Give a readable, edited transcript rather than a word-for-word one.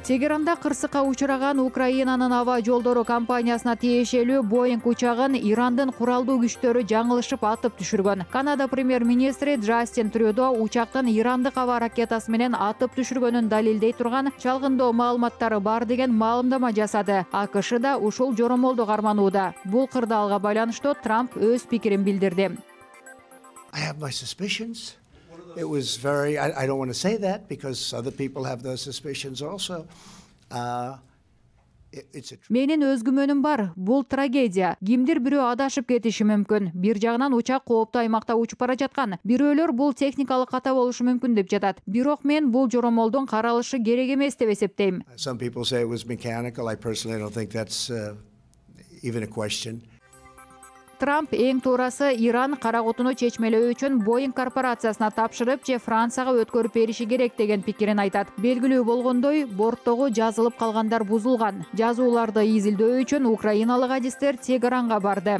Тегеранда кырсыкка учураган Украинанын аба жолдору компаниясына тиешелүү Boeing учагын Ирандын куралдуу күчтөрү жаңылышып атып түшүргөн. Канада премьер-министри Джастин Трюдо учактын Ирандык аба ракетасы менен атып түшүргөнүн далилдей турган чалгындоо маалыматтары бар деген маалымдама жасады. AQSh да ушул жоромолду карманууда. Бул кырдаалга байланыштуу Трамп өз пикирин билдирди. I have my suspicions. It was very, I don't want to say that because other people have those suspicions also. Менин өз күмөнүм бар. Бул трагедия. Кимдир бирөө адашып кетиши мүмкүн. Бир жагынан учак кооптуу аймакта учуп бара жаткан. Бирөөлөр бул техникалык ката болушу мүмкүн деп жатат. Бирок мен бул жоромолдун каралышы керек эмес деп эсептейм. Some people say it was mechanical. I personally don't think that's even a question. Трамп эң туурасы Иран караготуну чечмелөө үчүн Boeing корпорациясына тапшырып же Францияга өткөрүп бериши керек деген пикирин айтат. Белгилүү болгондой, борттогу жазылып калгандар бузулган. Жазууларды изилдөө үчүн украиналык адистер Тегеранга барды.